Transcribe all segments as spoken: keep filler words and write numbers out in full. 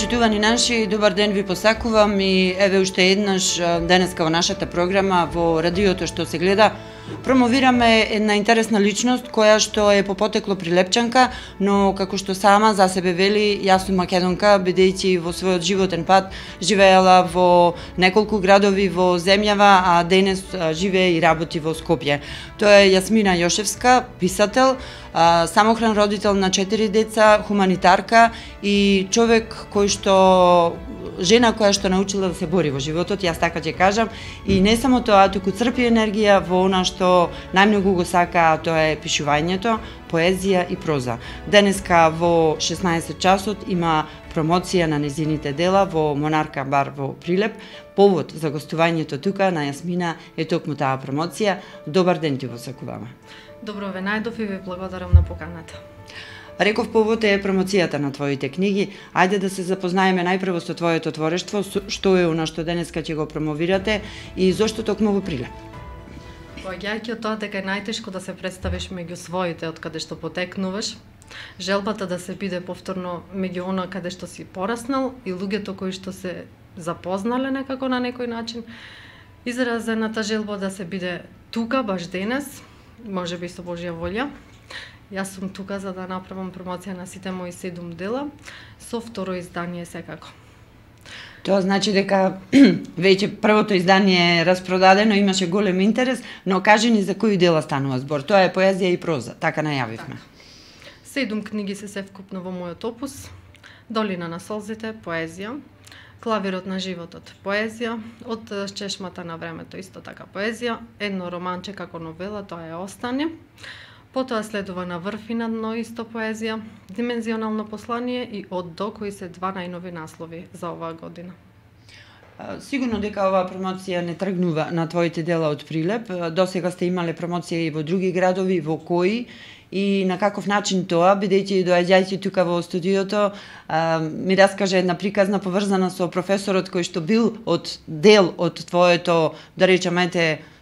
Почитувани наши, добар ден ви посакувам и еве уште еднаш денеска во нашата програма во радиото што се гледа промовираме една интересна личност која што е по потекло прилепчанка, но како што сама за себе вели, јас сум македонка, бидејќи во својот животен пат живеела во неколку градови во земјава, а денес живее и работи во Скопје. Тоа е Јасмина Јошевска, писател, самохран родител на четири деца, хуманитарка и човек кој што жена која што научила да се бори во животот, јас така ќе кажам, и не само тоа, туку црпи енергија во она што најмногу го сака, а тоа е пишувањето, поезија и проза. Денеска во шеснаесет часот има промоција на незините дела во Монарка бар во Прилеп. Повод за гостувањето тука на Јасмина е токму таа промоција. Добар ден ти посакуваме. Добро ве најдов и ви благодарам на поканата. Реков, повод е промоцијата на твоите книги. Ајде да се запознаеме најпрво со твоето творештво, што е она што денеска ќе го промовирате и зошто токму во Прилеп? Поаѓајќи од тоа дека е најтешко да се представиш меѓу своите од каде што потекнуваш, желбата да се биде повторно меѓу она каде што си пораснал и луѓето кои што се запознале некако на некој начин, изразената желба да се биде тука баш денес, можеби со Божја волја. Јас сум тука за да направам промоција на сите мои седум дела, со второ издание секако. Тоа значи дека веќе првото издание е распродадено, имаше голем интерес, но кажи ни за кои дела станува збор. Тоа е поезија и проза, така најавивме. Так. Седум книги се севкупно во мојот опус. Долина на солзите, поезија. Клавирот на животот, поезија. Од чешмата на времето, исто така поезија. Едно романче како новела, тоа е Остане. Потоа следува На врв и на дно, исто поезија, Димензионално послание и Од до, кои се два најнови наслови за оваа година. Сигурно дека оваа промоција не тргнува на твоите дела од Прилеп. Досега сте имале промоција и во други градови, во кои и на каков начин тоа, бидејќи доаѓајќи тука во студиото, ми раскаже една приказна поврзана со професорот кој што бил од дел од твоето, да речеме,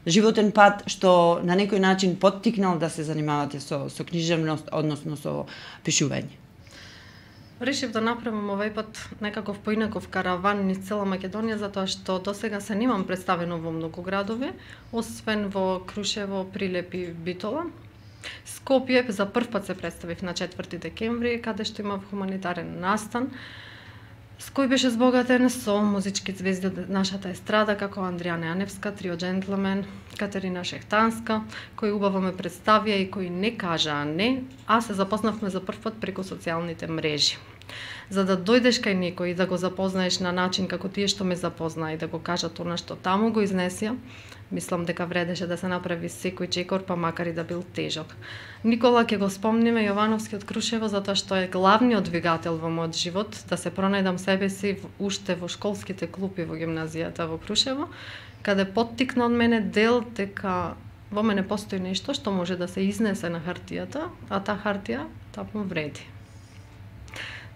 животен пат, што на некој начин поттикнал да се занимавате со, со книжевност, односно со пишување. Решив да направам овај пат некаков поинаков караван низ цела Македонија, затоа што досега се немам представено во многу градови, освен во Крушево, Прилеп и Битола. Скопје за прв пат се представив на четврти декември, каде што имав хуманитарен настан, с кој беше збогатен со музички звезди од нашата естрада, како Андријана Јаневска, Трио Джентлмен, Катерина Шехтанска, кои убаво ме представија и кои не кажаа не, а се запознавме за прв пат преку социјалните мрежи. За да дојдеш кај некој и да го запознаеш на начин како тие што ме запознаа и да го кажат она што таму го изнесија, мислам дека вредеше да се направи секој чекор, па макар и да бил тежок. Никола ќе го спомниме Јовановски од Крушево, затоа што е главниот двигател во мојот живот, да се пронајдам себе си уште во школските клупи во гимназијата во Крушево, каде поттикна од мене дел дека во мене постои нешто што може да се изнесе на хартијата, а таа хартија таму вреди.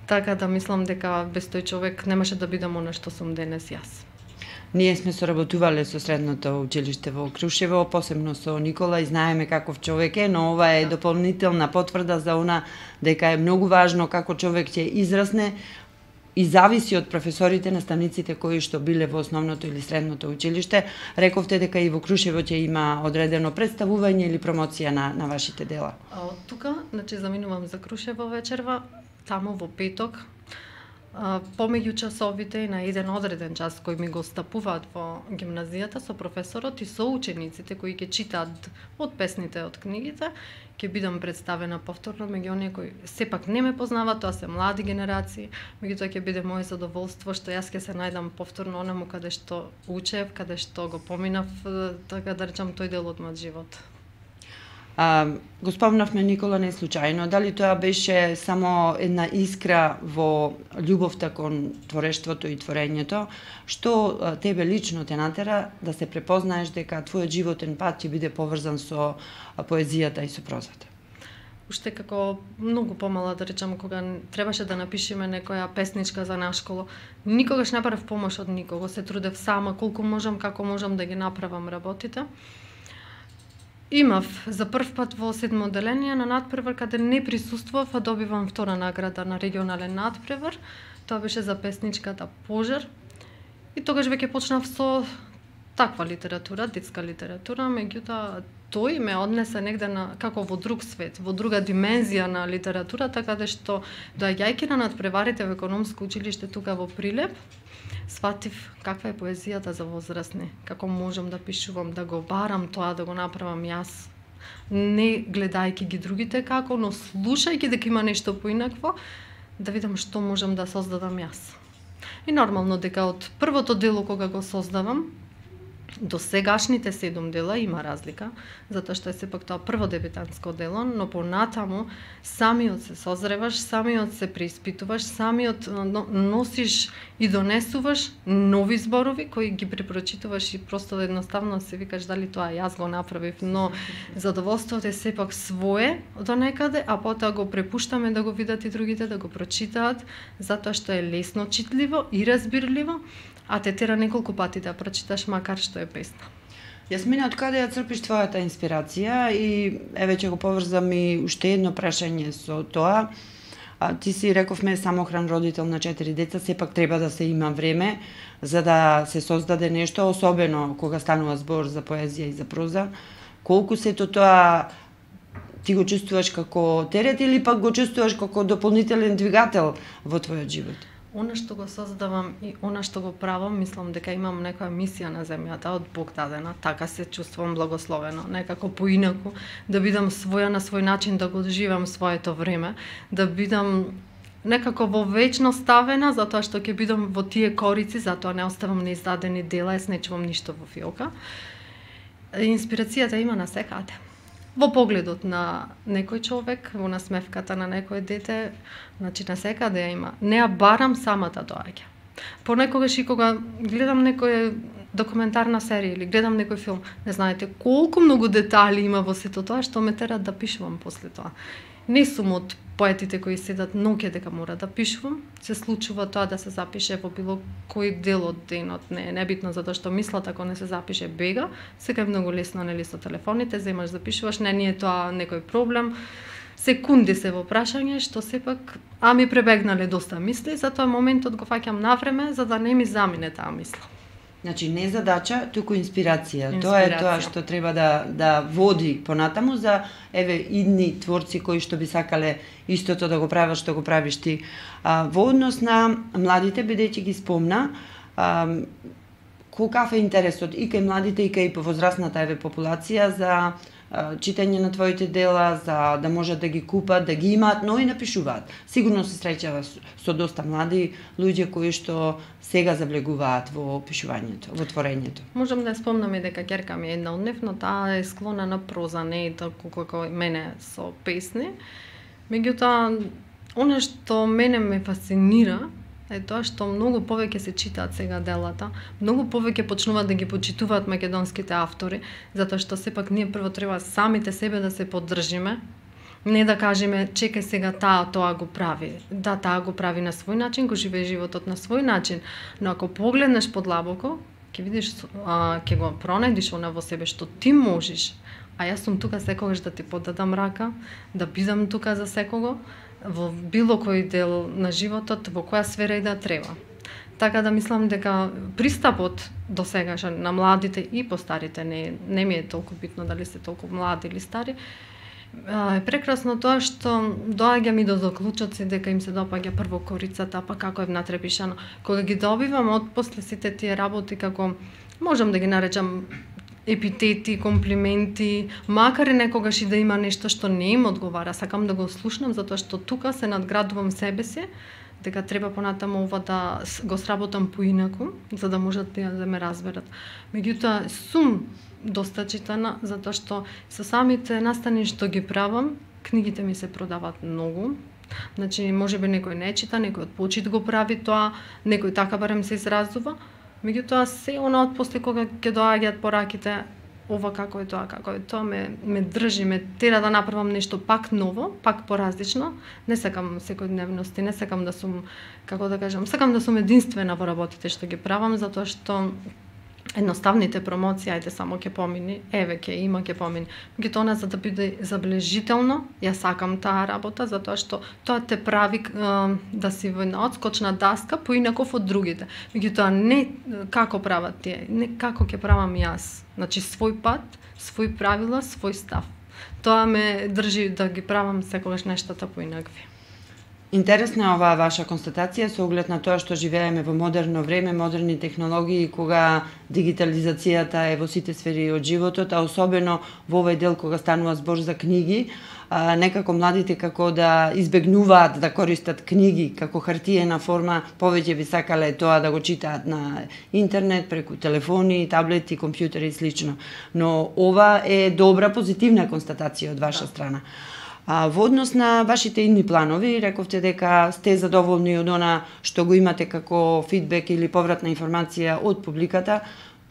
Така да мислам дека без тој човек немаше да бидам она што сум денес јас. Ние сме соработувале со средното училиште во Крушево, посебно со Никола, и знаеме каков човек е, но ова е дополнителна потврда за она дека е многу важно како човек ќе израсне и зависи од професорите, наставниците кои што биле во основното или средното училиште. Рековте дека и во Крушево ќе има одредено представување или промоција на, на вашите дела. А од тука, значи заминувам за Крушево вечерва, таму во петок, помеѓу часовите и на еден одреден час кој ми го стапуваат во гимназијата со професорот и со учениците кои ќе читаат од песните од книгите, ќе бидам представена повторно меѓу оние кои сепак не ме познаваат, тоа се млади генерации, меѓутоа ќе биде моје задоволство што јас ќе се најдам повторно онаму каде што учев, каде што го поминав, така да речам, тој дел од мојот живот. А, го спомнавме Никола не случајно, дали тоа беше само една искра во љубовта кон творештвото и творењето, што а, тебе лично те натера да се препознаеш дека твојот животен пат ќе биде поврзан со а, поезијата и со прозата? Уште како многу помала, да речам, кога требаше да напишеме некоја песничка за на школа, никогаш не барав помош од никого, се трудев сама, колку можам, како можам да ги направам работите. Имав за прв пат во седмо одделение на натпревар каде не присуствував, а добивам втора награда на регионален натпревар. Тоа беше за песничката Пожар. И тогаш веќе почнав со таква литература, детска литература, меѓутоа тој ме однесе негде на како во друг свет, во друга димензија на литературата, каде што доаѓајќи на натпреварите во економско училиште тука во Прилеп, сватив каква е поезијата за возрастни, како можам да пишувам, да го барам тоа, да го направам јас, не гледајќи ги другите како, но слушајќи дека има нешто поинакво, да видам што можам да создадам јас. И нормално дека од првото дело кога го создавам, до сегашните седум дела има разлика, затоа што е сепак тоа прво дебитантско дело, но понатаму самиот се созреваш, самиот се преиспитуваш, самиот носиш и донесуваш нови зборови кои ги препрочитуваш и просто едноставно се викаш дали тоа јас го направив, но задоволството е сепак свое до некаде, а потоа го препуштаме да го видат и другите, да го прочитаат, затоа што е лесно читливо и разбирливо, а те тера неколку пати да прочиташ макар што е песна. Јасмина, од каде ја црпиш твојата инспирација и еве ќе го поврзам и уште едно прашање со тоа. А, ти си рековме самохран родител на четири деца, сепак треба да се има време за да се создаде нешто, особено кога станува збор за поезија и за проза. Колку сето тоа ти го чувствуваш како терет или пак го чувствуваш како дополнителен двигател во твојот живот? Она што го создавам и она што го правам, мислам дека имам некоја мисија на земјата од Бог дадена, така се чувствувам благословено, некако поинаку, да бидам своја на свој начин, да го доживам своето време, да бидам некако во вечно ставена, затоа што ќе бидам во тие корици, затоа не оставам неиздадени дела, јас не чувам ништо во фиока. Инспирацијата има на секаде. Во погледот на некој човек, во насмевката на некој дете, значи на секаде ја има. Не ја барам, самата доаѓа. Понекогаш и кога гледам некоја документарна серија или гледам некој филм, не знаете колку многу детали има во сето тоа што ме терат да пишувам после тоа. Не сум од поетите кои седат ноќе дека мора да пишувам, се случува тоа да се запише во било кој дел од денот, не е небитно затоа што мислата ако не се запише бега, сега е многу лесно нели со телефоните, земаш запишуваш, не ни е тоа некој проблем. Секунди се во прашање што сепак, а ми пребегнале доста мисли, затоа моментот го фаќам навреме за да не ми замине таа мисла. Значи не задача, туку инспирација. инспирација. Тоа е тоа што треба да да води понатаму за еве идни творци кои што би сакале истото да го прават што го правиш ти. А, во однос на младите, бидејќи ги спомна, а, колкав е интересот и кај младите и кај повозрастната еве популација за читање на твоите дела, за да можат да ги купат, да ги имаат, но и напишуваат. Сигурно се среќава со доста млади луѓе кои што сега завлегуваат во пишувањето, во творењето. Можам да спомнам и дека ќерка ми е една од нив, но таа е склона на проза, не е толку како мене со песни. Меѓутоа, она што мене ме фасцинира е тоа што многу повеќе се читаат сега делата, многу повеќе почнуваат да ги почитуваат македонските автори, затоа што сепак ние прво треба самите себе да се поддржиме, не да кажеме чекај сега таа тоа го прави. Да, таа го прави на свој начин, го живее животот на свој начин, но ако погледнеш подлабоко, ќе видиш, а, ќе го пронајдиш она во себе што ти можеш. А јас сум тука секогаш да ти подадам рака, да бидам тука за секого, во било кој дел на животот, во која сфера и да треба. Така да мислам дека пристапот до сегаш на младите и постарите, не, не ми е толку битно дали се толку млади или стари, е прекрасно тоа што доаѓа ми до заклучоци дека им се допаѓа прво корицата, па како е внатре пишано. Кога ги добивам од после сите тие работи, како можам да ги наречам епитети, комплименти, макар и некогаш и да има нешто што не им одговара, сакам да го слушнам затоа што тука се надградувам себе си, дека треба понатаму ова да го сработам поинаку, за да можат да ме разберат. Меѓутоа, сум доста читана, затоа што со самите настани што ги правам, книгите ми се продаваат многу. Значи, можеби некој не чита, некој од почит го прави тоа, некој така барем се изразува, меѓутоа се она од после кога ќе доаѓаат пораките, ова како е тоа, како е тоа, ме, ме држи, ме тера да направам нешто пак ново, пак поразлично. Не сакам секојдневности, не сакам да сум, како да кажам, сакам да сум единствена во работите што ги правам, затоа што едноставните промоции, ајде само ќе помини, еве ќе има, ќе помини. Меѓутоа, за да биде забележително, ја сакам таа работа, затоа што тоа те прави е, да си во една одскочна даска поинаков од другите. Меѓутоа, не како прават тие, не како ќе правам јас. Значи, свој пат, свој правила, свој став. Тоа ме држи да ги правам секогаш нештата поинакви. Интересна е оваа ваша констатација со оглед на тоа што живееме во модерно време, модерни технологии, кога дигитализацијата е во сите сфери од животот, а особено во овој дел кога станува збор за книги, а, некако младите како да избегнуваат да користат книги како хартиена форма, повеќе би сакале тоа да го читаат на интернет, преку телефони, таблети, компјутери и слично. Но ова е добра, позитивна констатација од ваша страна. А, во однос на вашите идни планови, рековте дека сте задоволни од она што го имате како фидбек или повратна информација од публиката.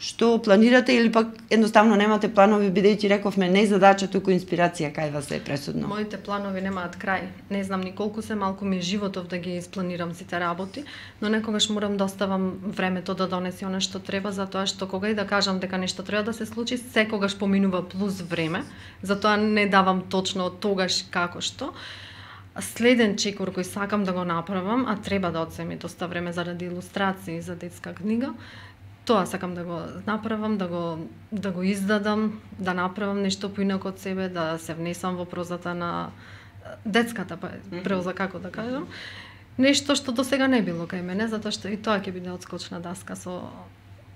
Што планирате или пак едноставно немате планови, бидејќи рековме не задача, туку инспирација кај вас е пресудно? Моите планови немаат крај. Не знам ни колку се, малку ми е животов да ги испланирам сите работи, но некогаш морам да оставам времето да донесе она што треба, затоа што кога и да кажам дека нешто треба да се случи, секогаш поминува плюс време, затоа не давам точно тогаш како што. Следен чекор кој сакам да го направам, а треба да одземе доста време заради илустрации за детска книга, тоа сакам да го направам, да го да го издадам, да направам нешто поинако од себе, да се внесам во прозата на детската проза, како да кажам. Нешто што досега не било кај мене, затоа што и тоа ќе биде одскочна даска со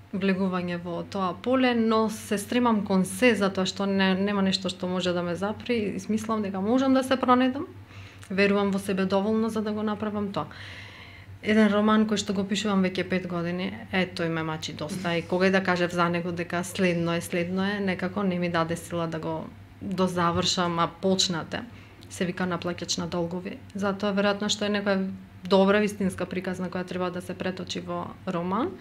влегување во тоа поле, но се стремам кон се, затоа што не, нема нешто што може да ме запри и смислам дека можам да се пронедам. Верувам во себе доволно за да го направам тоа. Еден роман кој што го пишувам веќе пет години, е тој ме мачи доста и кога и да кажев за него дека следно е, следно е, некако не ми даде сила да го дозавршам, а почнате. Се вика наплаќач на долгови. Затоа веројатно што е некоја добра вистинска приказна која треба да се преточи во роман.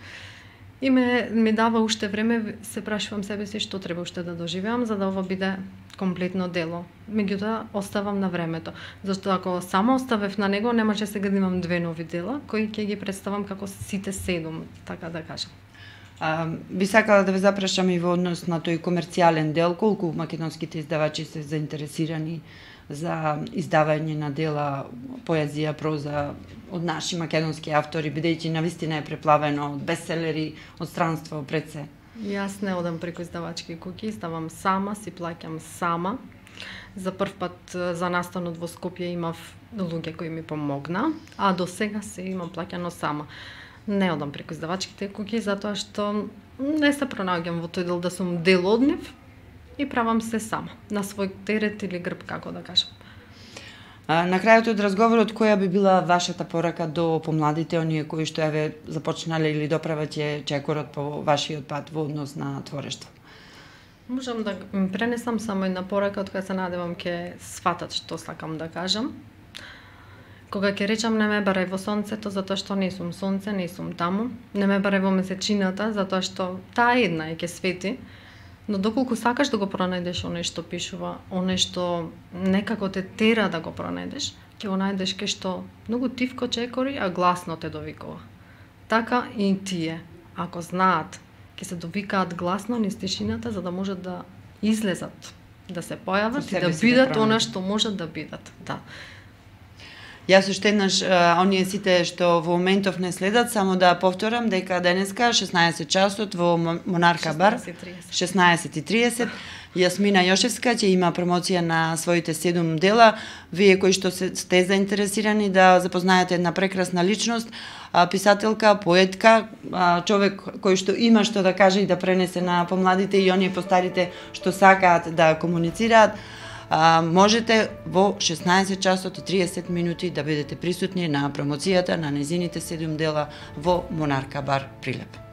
И ме, ми дава уште време, се прашувам себе си што треба уште да доживеам за да ова биде комплетно дело. Меѓутоа, оставам на времето. Зашто ако само оставев на него, немаше сега да имам две нови дела, кои ќе ги представам како сите седум, така да кажам. А, би сакала да ве запрашам и во однос на тој комерцијален дел, колку македонските издавачи се заинтересирани за издавање на дела, поезија, проза од наши македонски автори, бидејќи навистина е преплавено од бестселери, од странство пред се. Јас не одам преку издавачки куќи, издавам сама, си плаќам сама. За прв пат за настанот во Скопје имав луѓе кои ми помогна, а до сега се имам плаќано сама. Не одам преку издавачките куќи затоа што не се пронаоѓам во тој дел да сум дел од нив и правам се сама, на свој терет или грб, како да кажам. А, на крајот од разговорот, која би била вашата порака до помладите, оние кои што еве започнале или доправаќе чекорот по вашиот пат во однос на творештво? Можам да им пренесам само една порака од која се надевам ќе сфатат што сакам да кажам. Кога ќе речам не ме барај во сонцето, затоа што не сум сонце, не сум таму. Не ме барај во месечината, затоа што таа една е ќе свети. Но доколку сакаш да го пронајдеш оне што пишува, оне што некако те тера да го пронајдеш, ќе го најдеш кај што многу тивко чекори, а гласно те довикува. Така и тие, ако знаат, ќе се довикаат гласно низ тишината за да можат да излезат, да се појават и да бидат да она што можат да бидат. Да. Јас уште еднаш, оние сите што во моментов не следат, само да повторам дека денеска шеснаесет часот во Монарка бар, шеснаесет и триесет, Јасмина Јошевска ќе има промоција на своите седум дела. Вие кои што сте заинтересирани да запознаете една прекрасна личност, писателка, поетка, човек кој што има што да каже и да пренесе на помладите и оние постарите што сакаат да комуницираат, А, можете во шеснаесет часот и триесет минути да бидете присутни на промоцијата на нејзините седум дела во Монарка бар Прилеп.